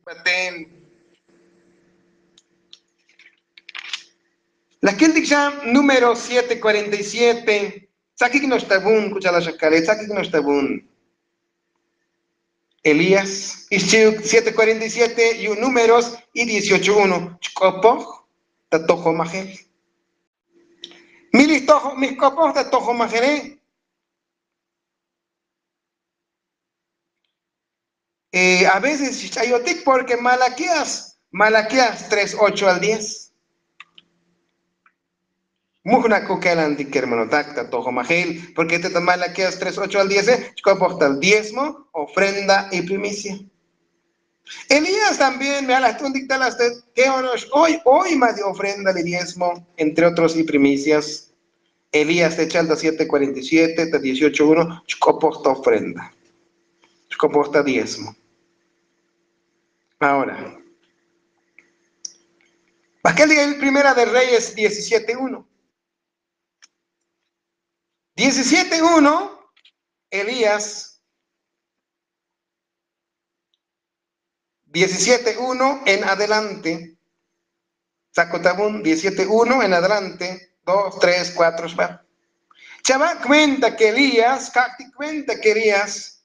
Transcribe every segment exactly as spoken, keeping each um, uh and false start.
Baten. La kiltik xa número siete cuarenta y siete. Tsakik noxta vun k'u cha'al xa kale tsakik noxta vun. Elías ixchi'uk siete cuarenta y siete yu' números y dieciocho uno. Chk'opoj ta tojomajel. Milij tojo mijk'opoj ta tojomajele. A veces xch'ayotik porque malaquías malaquías tres ocho al diez. Mujna' k'u kelantik kermanotak ta tojomajel. Porque te ta malaquías tres ocho al diez chk'opoj tal diezmo, ofrenda y primicia. Elías también me alajt'untik tal asta keono'ox oy oy ma' ti ofrenda li diezmo entre otros y primicias. Elías te chal ta siete cuarenta y siete ta dieciocho uno chk'opoj ta ofrenda. Chk'opoj ta diezmo. Ahora, bakel diga el primera de reyes diecisiete uno. Diecisiete uno. Elías diecisiete uno en adelante. Sakotabun diecisiete uno en adelante. Dos tres cuatro xba. Chava' cuenta que elías ka'ktik cuenta que elías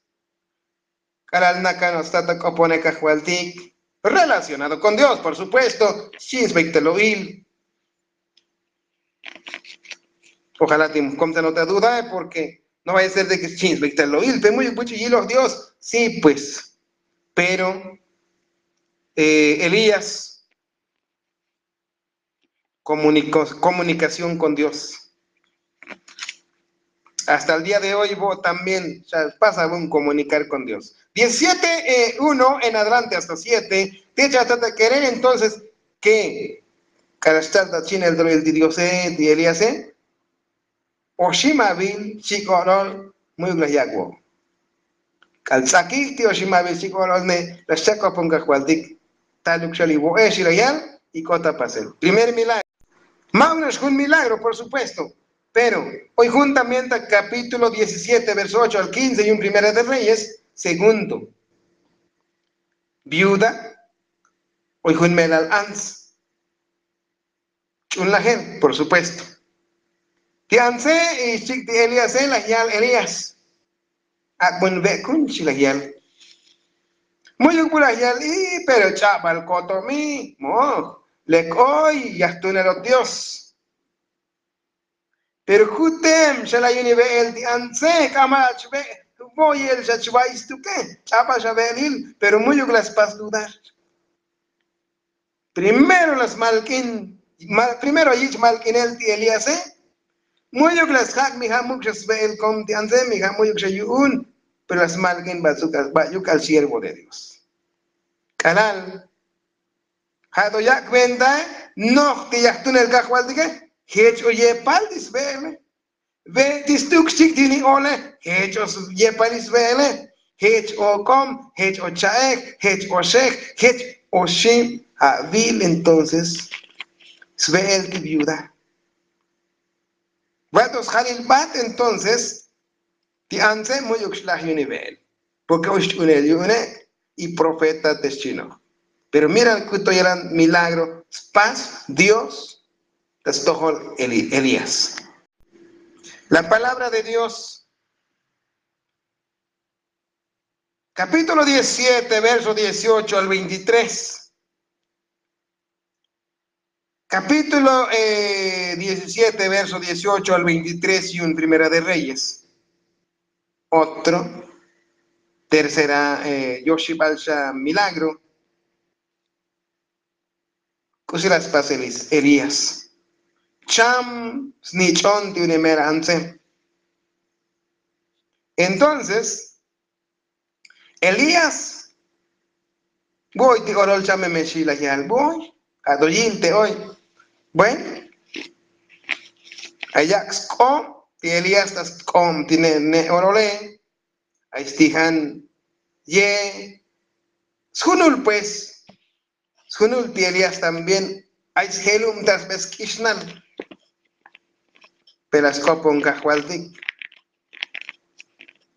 k'alal nakano'ox ta ta k'oponej kajvaltik relacionado con dios por supuesto. Xchi'in sbeyik ta lo'il. Ojalá ti mujkom ta nota duda porque no vaya a ser de ke xchi'in sbeyik ta lo'il pe muyuk buch'u yiloj dios. Sí pues. Pero elías komunikación kon dios. Hasta el día de hoy vo también pasa un komunikar kon dios. Diecisiete uno en adelante hasta siete. Te chata ta kere entonces ke k'ala' xtal ta chinel tolil ti diose ti eliase. Oximavil chik o'lol muyuk laj yak' vo'. K'al ts'akij ti oximavil chik o'lol ne la xchak'opon kajvaltik. Taluk xa li vo'ex y la yal y k'ot ta pasel primer milagro. Ma' uno'ox jun milagro por supuesto. Pero oy jun también ta kapítulo diecisiete verso ocho al quince y un primera de reyes segundo. Viuda oy jun melal ants. Ch'un lajel por supuesto. Ti antse y xchik' ti eliase laj yal elias. Ak'bun ve'kun xchi laj yal. Muyuk bu laj yal i pero ch'abal kotomi moj. Lek oy yajtunelot dios. Pero jutem xa laj yuni ve'el ti antse k'ama' ach ve'. Voyel xa chvay stuke ch'abal xa ve'elil. Pero muyuk laj spas dudar. Primero la smalk'in primero yich' malk'inel ti eliase. Muyuk la sjak' mi ja' muk' xa sve'el kom ti antse mi ja' muyuk xa yu'un. Pero la smalk'in ba' yuk'al siervo de dios. K'alal ja' to yak' ventae noj ti yajtunel kajvaltike. Jech o yepal ti sve'ele. Ve' ti stuk xchik' ti ni ole. Jech o yepal ti sve'ele. Jech o k'om jech o cha'ej jech o xej jech o xim. Avil entonces sve'el ti viuda. Va' to sjalil bat entonces ti antse' muyuk xlaj yuni ve'el. Porke oy xch'unel yu'une' y profeta te xchinoj. Pero mira k'uto yalan milagro spas dios ta stojol elías. La palabra de dios. Kapítulo diecisiete verso dieciocho al veintitrés. Kapítulo diecisiete verso dieciocho al veintitrés y un primera de reyes. Otro tercera yoxibal xa milagro. K'usi la spasel elías. Cham snich'on ti unemel antse. Entonces elías voy ti olol chamemexi la yal voy. Atoyil te oy. Bueno. Ayak' sk'om ti elías ta sk'om ti ne' olole. Ay stijan ye sjunul pues. Sjunul ti elías también ay sjelum ta sbe sk'ixnal. Pe la sk'opon kajvaltik.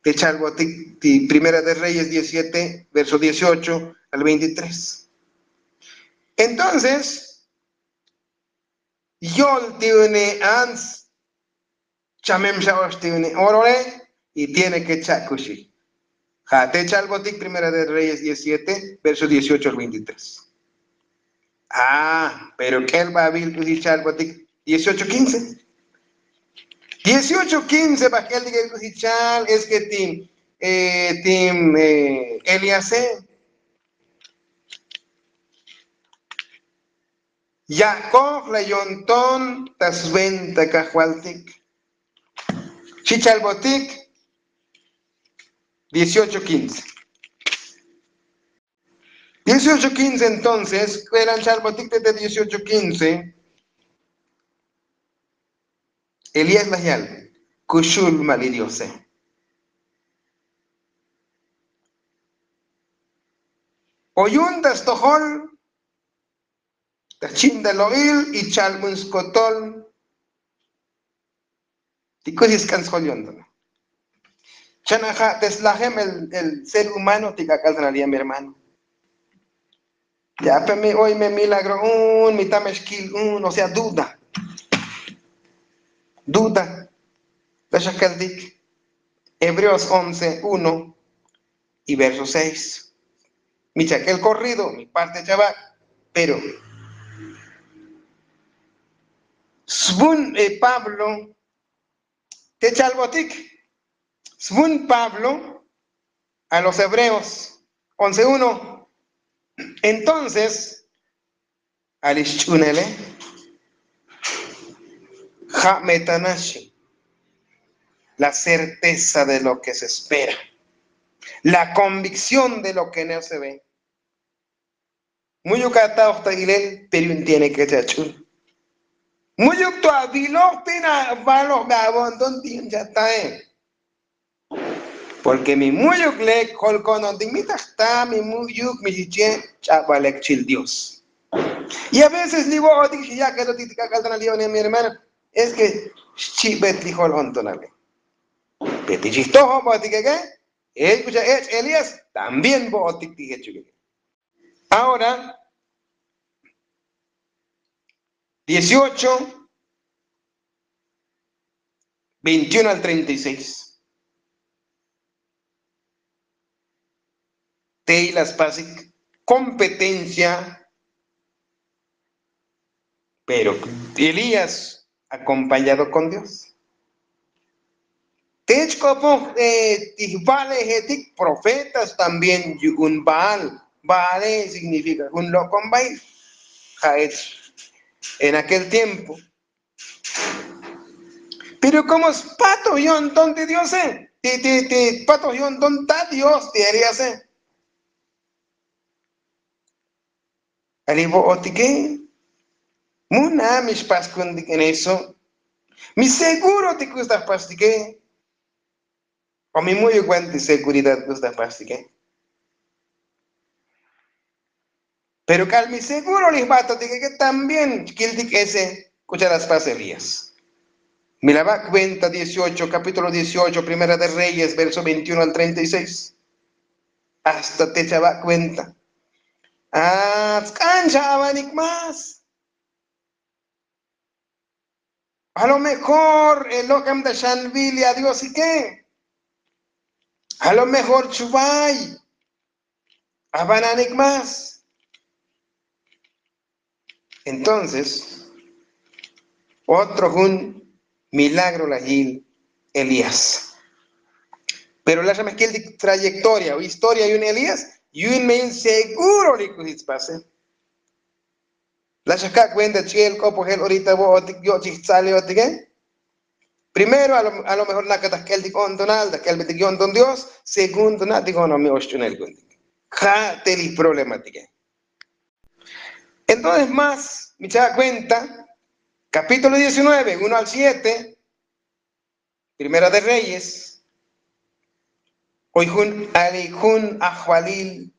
Te chalbotik ti primera de reyes diecisiete verso dieciocho al veintitrés. Entonces yol ti une ants chamem xa'ox ti une orole y tiene ke chakuxi. Ja' te chalbotik primera de reyes diecisiete verso dieciocho al veintitrés. Ah, pero k'el babil k'usi chalbotik dieciocho quince. Dieciocho quince bajk'el tik k'usi chal es ke tim tim eliase yak'oj la yonton ta sventa kajvaltik. Chichalbotik dieciocho quince. Dieciocho quince entonces k'uelan chalbotik te dieciocho quince. Elías laj yal kuxul ma' li diose. O yun ta stojol ta jchin ta lo'il y chalbun skotol. Ti k'usi sk'an sjol yonton chana ja' te slajem el ser humano ti k'ak'al tan aliyam hermano. Ya pe mi oy me milagro un mi tame xkil un o sea duda. Duda. Taxakaltik hebreos once uno y verso seis. Mi chak'el corrido mi parte chava pero svun pablo te chalbotik svun pablo a los hebreos once uno. Entonces a li xch'unele ja' me tanaxi la certeza de lo ke se espera, la konvikción de lo ke no se ve. Mu'yuk ataoj ta ilel pero yun tiene ke chach'un. Mu'yuk to aviloj pina avaloj be avonton ti yun chatae. Porke mi mu'yuk lek jolkonon ti mi taj ta mi mu'yuk mi xiche ch'abalek chil dios. Y aveces li vo'otik xiyak'etotik ta k'ak'al tan aliyone mi hermano es ke xchibet li jol ontonale. Pe ti chijtojobotik eke ech k'ucha ech' elías también vo'otik ti jechuk eke. Ahora dieciocho veintiuno al treinta y seis. Tey la spasik kompetencia pero elías akompañado kon dios. Te chk'opoj ti jva'lejetik profetas también yu'un baal. Baale signifika jun lok'ombail. Ja' ech en akel tiempo. Pero komo spatoj yo'nton ti diose ti ti ti patoj yo'nton ta dios ti eliase. Ali vo'otike. Muna mi xpaskuntik en eso. Mi seguro ti k'us ta jpastike. O mi mu'yuk wan ti seguridad k'us ta jpastike. Pero k'al mi seguro li jbatotik eke también xkiltik ese k'u cha'al la spas elías. Mi la ba' kuenta dieciocho kapítulo dieciocho primera de reyes verso veintiuno al treinta y seis. Hasta te chava' kuenta. Atsk'an cha'avanik más. A lo mejor lok'am ta xanvil ya diosike. A lo mejor chvay avananik más. Entonces otro jun milagro lajil elías. Pero laxamejkil ti trayektoria o historia yun elías yun me yun seguro li k'usi tspase. Laxakak' kuenta ch'i'el k'opojel orita vo'otik yo' chij tzaliyotike. Primero a lo mejor naka ta jk'eltik o'ntonal ta jk'elbetik yo'nton dios. Segundo na' ti konomi oxch'unel kuentik. Ja' te li problematike. Entonces más mi cha' kuenta kapítulo diecinueve uno al siete. Primera de reyes. Oy jun ali jun ajvalil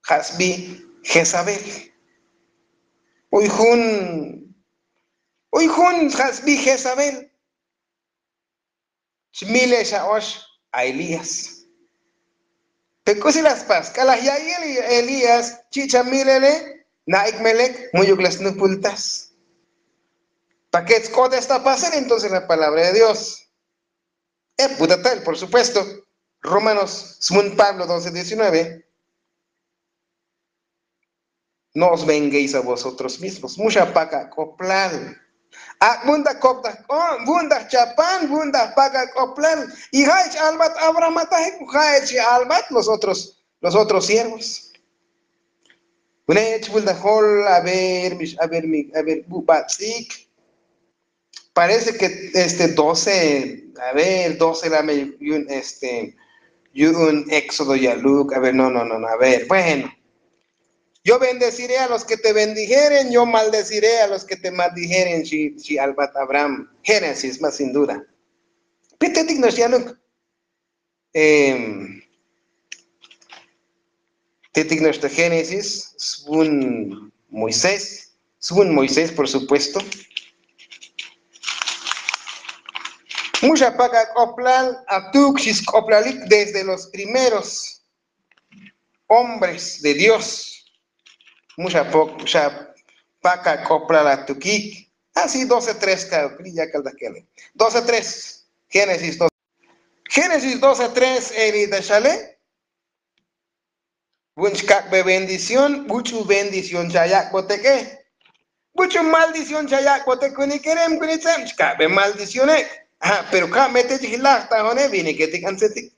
ja' sbi jezabel. Oy jun oy jun ja' sbi jezabel. Chmile xa'ox a elías. Pe k'usi la spas k'alaj ya'iyel elías chi'cha' milele na'ik melek mu'yuk la snupultas. Paket sk'otes ta pasel entonces la palabra de dios. Ep butatel por supuesto. Romanos smun pablo doce diecinueve. No os venguéis a vosotros mismos mu xa pakak'oplal. Ak'bun ta kop ta k'o'n bun ta chapan bun ta pakak'oplal. Y ja'ech albat abraham atajik ja'ech albat los otros los otros siervos. Jun ech bul ta jol a ver mix a ver mi a ver bubats'ik. Parece ke este doce a ver doce la me yun este yun éxodo yaluk a ver no no no a ver bueno. Yo bendeciré a los ke te bendijeren yo maldeciré a los ke te maldijeren xi albat abraham. Génesis mas sin duda. Pitetik nox yaluk. Tetik noxta génesis svun moisés svun moisés por supuesto. Muxa pakak'oplal atuk xi sk'oplalik desde los primeros hombres de dios. Muxa pakak'oplal atukik. Asi doce tres ka li' yakal ta kele. Doce tres génesis doce tres. Eli ta xale. Vun chkak'be bendición buch'u bendición chayak'botek'e. Buch'u maldición chayak'botek kunikerem kunitzeb chkak'be maldicióne'. Pero ka' mete chijlaj ta jone viniketik antzetik.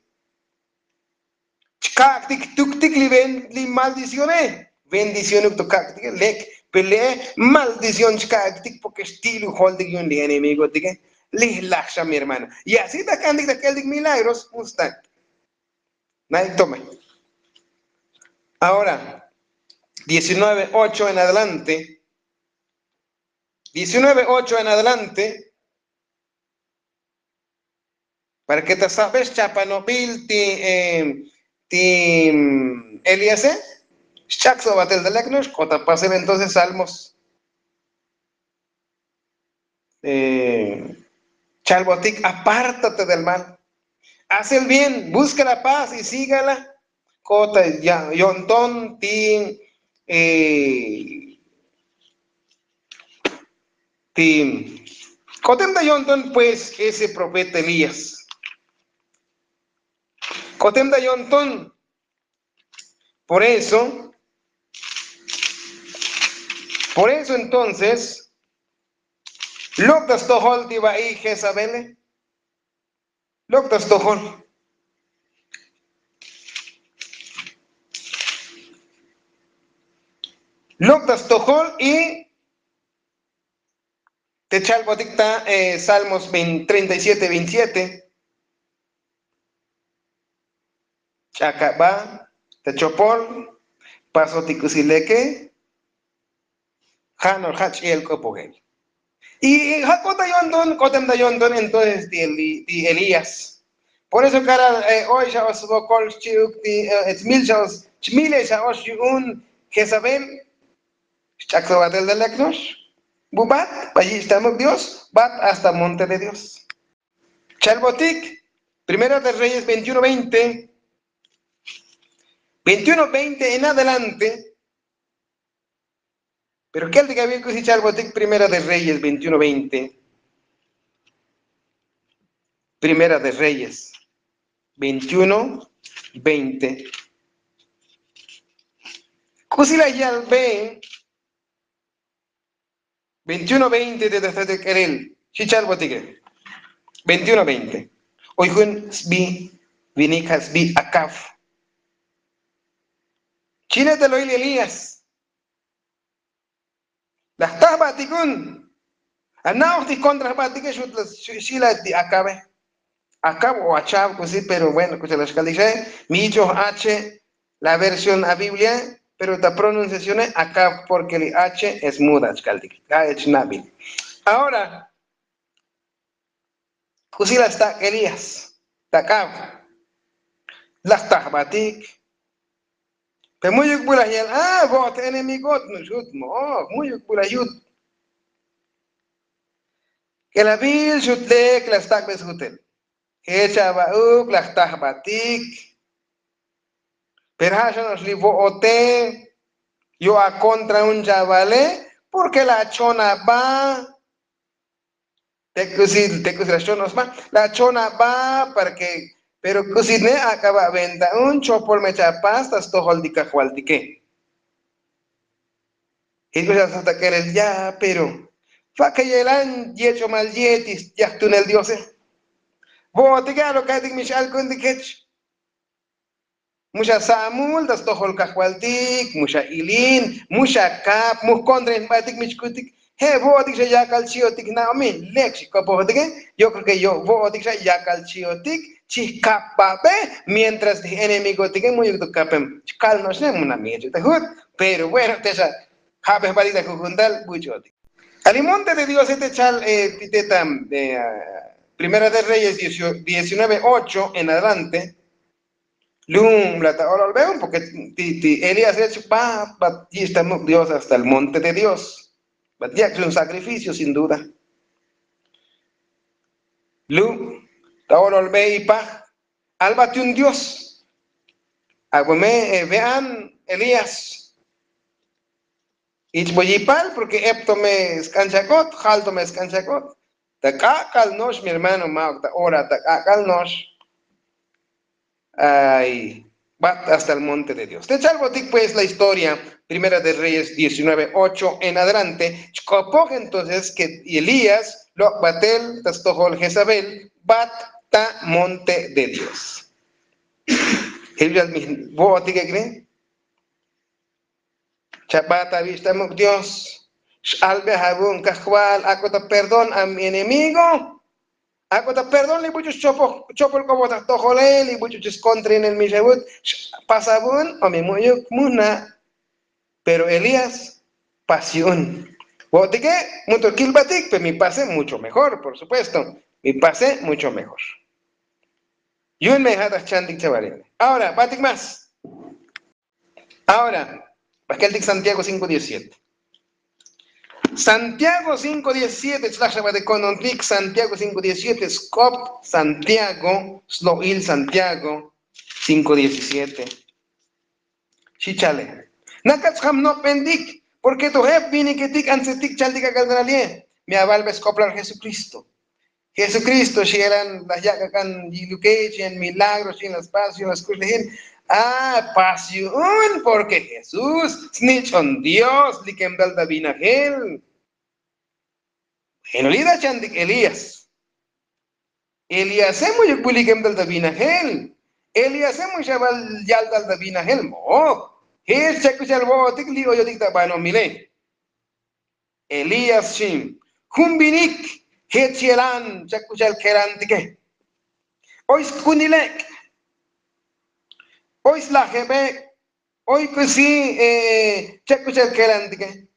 Chkak'tik tuktik li maldicióne. Bendiciónuk to kak'tike lek. Pe le'e maldición chkak'tik porke xti'lu joltik yun li enemigotike. Lij laj xa mi hermano. Y asi ta k'antik ta k'eltik milagros. Ustak. Na'ik tome. Ahora diecinueve ocho en adelante. Diecinueve ocho en adelante. Para ke ta sabe xchapanobil ti ti eliase. Xch'ak sobatel ta lek no'ox k'ota pasel entonces salmos. Chalbotik apártate del mal. Haz el bien buska la paz y sígala. K'ota yo'nton ti ti k'otem ta yo'nton pues ese profeta elías. K'otem ta yo'nton. Por eso por eso entonces lok' ta stojol ti va'i jezabele. Lok' ta stojol. Lok' ta stojol y te chalbotik ta salmos treinta y siete veintisiete. Ch'akaba ta chopol. Pasotik k'usi leke. Ja' nor ja' ch'i'el k'opojel. Y ja' k'ot ta yo'nton k'otem ta yo'nton entonces ti elías. Por eso k'alal oy xa osbokol xchi'uk ti smil xa os chmile xa ox yu'un jezabel. Xch'ak sobatel ta lek no'ox. Bubat ba yich' ta muk dios bat hasta monte de dios. Chalbotik primera de reyes veintiuno veinte. Veintiuno veinte en adelante. Pero kel ti kavil k'usi chalbotik primera de reyes veintiuno veinte. Primera de reyes veintiuno veinte. K'usi la yalbe veintiuno veinte te ta jtatik k'erel. Xi chalbotike veintiuno veinte. Oy jun sbi vinik ja' sbi akaf. Chine ta lo'il elías. La jta jbatik jun. Ana'oj ti jkontra jbatike xut la xila ti akabe. Akab o achav k'usi pero bueno k'usi la xkaltik xae. Mi yich'oj ache la versión a biblia. Pero ta pronunciacione akab porke li ache es muda xkaltik. Ja'ech nabil. Ahora k'usi la stak' elías. Ta k'ab la jta jbatik. Pe mu'yuk bu la yal a vo'ot enemigot nuxut mo'oj mu'yuk bu la yut. K'elabil xut lek la stak' be sjutel. Jech aba'uk la jta jbatik. Pero ja' xano'ox li vo'ote yo' akontra un chavale, porke la achon aba. Te k'usi te k'usi la xchon osma, la achon aba. Parke pero k'usi ne ak'aba' venta un chopol me chapas ta stojol ti kajvaltike. Jich k'usi ta k'elel ya pero fa'ke yelan yech'omal ye ti yajtunel diose. Vo'otike a lo ka'tik mi x'alkuntik jech. Mu xa sa'mul ta stojol kajvaltik, mu xa ilin, mu xa kap, mu jkontrain jbatik mi chkutik. Je' vo'otik xa yakal chi'otik na'omi lek xikopojotike. Yo' kreo ke yo' vo'otik xa yakal chi'otik chijkapbabe. Mientras ti j'enemigotike mu'yuk to kapem chkal no'oxne mu na' mi jech ta jut. Pero bueno te xa ja'be jbatik ta jujuntal buch'otik. Ali monte de diose te chal ti te ta primera de reyes diecinueve ocho en adelante. Lum la ta ololbe un porke ti elías rech bat bat yich' ta muk' dios hasta el monte de dios. Bat yak' chun sacrificio sin duda. Lum ta ololbe ipaj. Albat yun dios. Ak'o me vean elías. Ich'bo yipal porke ep to me sk'an chak'ot jal to me sk'an chak'ot. Ta k'ak'al no'ox mi hermano ma'ok ta ora ta k'ak'al no'ox. Ay bat hasta el monte de dios te chalbotik pues la historia. Primera de reyes diecinueve ocho en adelante chk'opoj entonces ke elías lok' batel ta stojol jezabel bat ta monte de dios. Jilbixal mi vo'otik ek'ne. Chabat avich' ta muk' dios. X'albe avun kajval ak'o ta perdón a mi enemigo. Ak'o ta perdón li buch'u chopol k'opoj ta jtojole li buch'u chis kontrainel mi xavut. Xpas avun o mi mu'yuk mu na'. Pero elías pas yu'un. Vo'otike mu to kilbatik pero mi pase mucho mejor por supuesto. Mi pase mucho mejor. Yu'un me ja' ta jchantik chavalil. Ahora batik más. Ahora bakeltik santiago cinko diecisiete. Santiago cinko diecisiete chlaj xabatik konontik santiago cinko diecisiete sk'op santiago slo'il santiago cinko diecisiete. Xi chale. Nakat xjam nok'bentik porke to jep viniketik antsetik chaltik ak'al naralie. Mi avalbe sk'oplal jesukristo. Jesukristo xi elan laj yak' ak'an yiluke xi en milagro xi en las pas xi en las kux lejil. A pas yu'un porke jesús snich'on dios li kemtal ta vinajel. Jeno li' ta chantik elías. Elíase mu'yuk bulikem tal ta vinajel. Elíase mu'yuk xaval yal tal ta vinajel mo'o. Jech chak'uchal vo'otik li' oyotik ta banomile. Elías xim jun vinik jech yelan chak'uchal kelantike. Oy sk'unilek'. Oy slajebek'. Oy k'usi chak'uchal kelantike.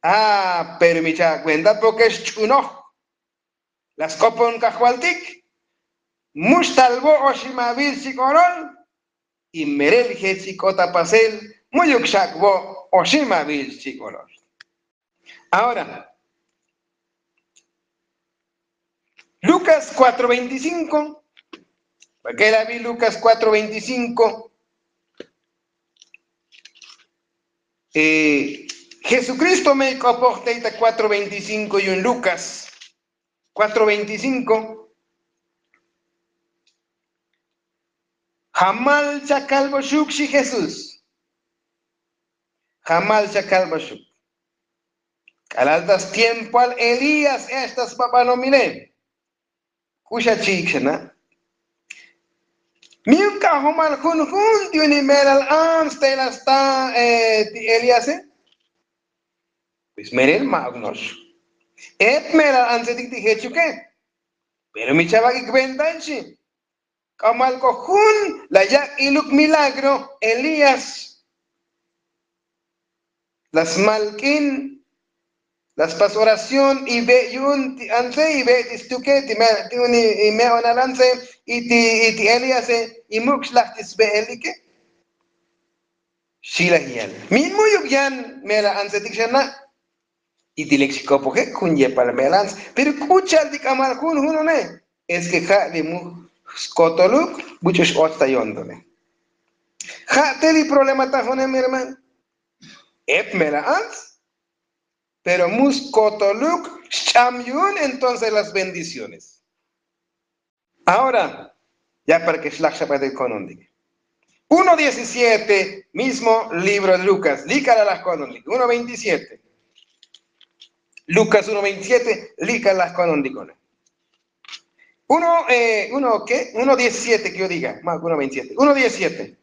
A pero mi chakuenta porke xch'unoj. La sk'opon kajvaltik. Mu xtalvo' oximavil xchik'olol. Y merel jech ik'ot apasel mu'yuk xak'vo' oximavil xchik'olol. Ahora lukas kuatro veinticinko. Bak'el abi lukas kuatro veinticinko. Jesukristo me ik'opoj tey ta kuatro veinticinko yu'un lukas. Kuatro veinticinko. Jamal chakalboxuk xi jesús. Jamal chakalboxuk. K'alal ta stiempoal elías ech ta sbabanomile. K'uxa chi'ik xana'. Miuk k'ajomal junjun ti uni me'lal ants tey la sta ti elíase. Pues me'lel ma'uk no'ox. Ep me'lal antsetik ti jechuke. Pero mi chavak'ik ventan xi. K'amal k'o jun la yak' iluk milagro elías. La smalk'in la spas oración ive' yu'un ti antse ive' ti stuke ti me'lal ti uni ime'onal antse. Y ti elíase imuk' xlaj ti sve'elike. Xi laj yal min mu'yuk yan me'lal antsetik xana'. Y ti lek xikopojek jun yepal me'lal antse pero k'u cha'al ti k'amal junjun une. Es ke ja' li mu skotoluk buch'u x'och ta yo'ntone. Ja' te li problema ta june mi hermano. Ep mera ants. Pero mus kotoluk xch'am yu'un entonces las bendiciones. Ahora ya para ke xlaj xabatel ko'nontik. Uno diecisiete, mismo libro de lukas li' k'ala' laj ko'nontik uno veintisiete. Lukas uno veintisiete li' k'ala' laj ko'nontik. Uno, uno ke uno diecisiete ke yo diga ma uno veintisiete uno diecisiete.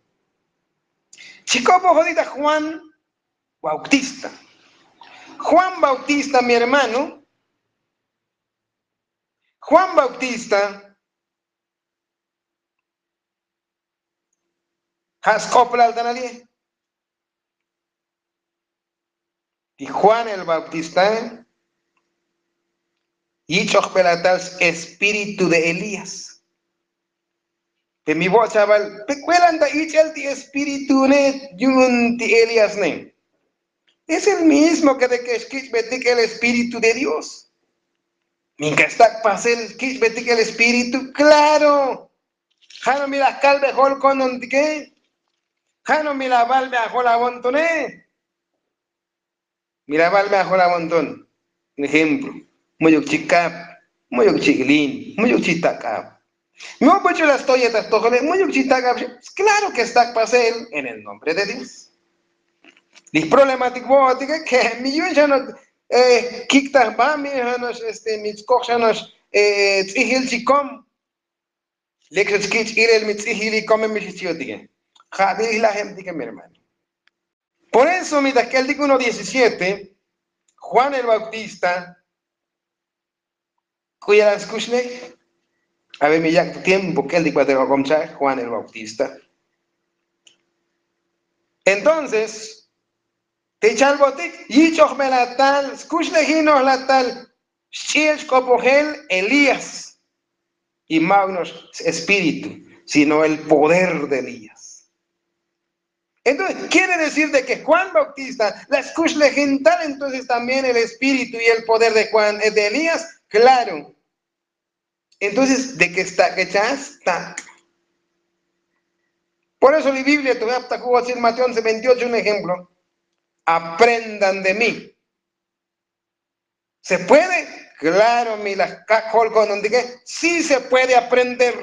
Chik'opo jodita juan bautista. Juan bautista mi hermano. Juan bautista ja' sk'oplal tan ali. Y juan el bautista yich'ojbelatal espíritu de elías. Pe mi vo'ot chaval pe k'uelan ta ich'el ti espíritu ne yu'un ti elías ne. Es el mismo ke de ke xkich'betik el espíritu de dios. Minka stak' pasel kich'betik el espíritu klaro. Ja' no mi laj kalbe jol konontike. Ja' no mi laj balbe ajol awontone. Mi laj balbe ajol awonton. Ejemplo, mu'yuk chikab, mu'yuk chilin, mu'yuk chitakab. Mi opuch'u laj stoyeta jtojole mu'yuk chitakab. Klaro ke stak' pasel en el nombre de dios. Li problematik vo'otike ke mi yu'un xa nox kiktaj ba mi xa nox este mi tskoj xa nox ts'ijil chikom. Lek xa chkich' ilel mi ts'ijil ikomem mi xich yo'otike. Ja' ti ijlajebtike mi hermano. Por eso mi ta jk'eltik uno diecisiete juan el bautista k'u yalan skuxlej. A ver mi yak' tu tiempo k'eltik batel ok'om cha'aj juan el bautista. Entonces te chalbotik yich'ojbelatal skuxlejinojlatal xch'i'el xk'opojel elías. Y ma' uno'ox espíritu sino el poder de elías. Entonces quiere decir de ke juan bautista la skuxlejintal entonces también el espíritu y el poder de juan de elías. Klaro. Entonces de ke stak'echaj stak'. Por eso li biblia tu jap ta ju'otzil mateo once veintiocho un ejemplo. Aprendan de mi. Se puede? Klaro mi laj kak' jol ko'nontike. Si se puede aprender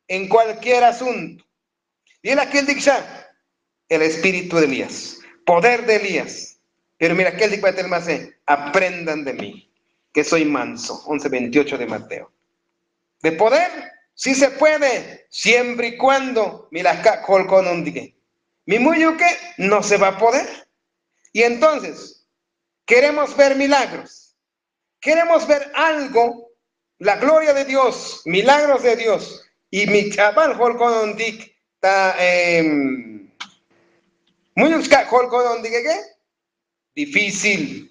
en kualkier asunto. Li' laj kiltik xa el espíritu de elías, poder de elías. Pero mi laj kiltik batel mase aprendan de mi ke soy manso once veintiocho de mateo. De poder si se puede siempre y kuando mi laj kak' jol ko'nontike. Mi mu'yuke no se va a poder. Y entonces keremos ver milagros. Keremos ver algo la gloria de dios milagros de dios. Y mi ch'abal jol ko'nontik ta mu'yuk chkak' jol ko'nontik eke. Difícil.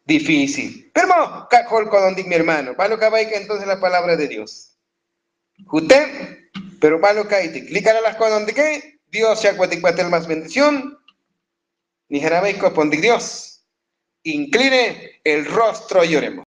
Difícil pero ma' kak' jol ko'nontik mi hermano balo' kabaik entonces la palabra de dios. Jute' pero balo' ka'itik li' k'ala' laj ko'nontike. Dios chak'botik batel mas bendición. Ni jarabaik ko'pontik dios. Inkline el rostro y oremos.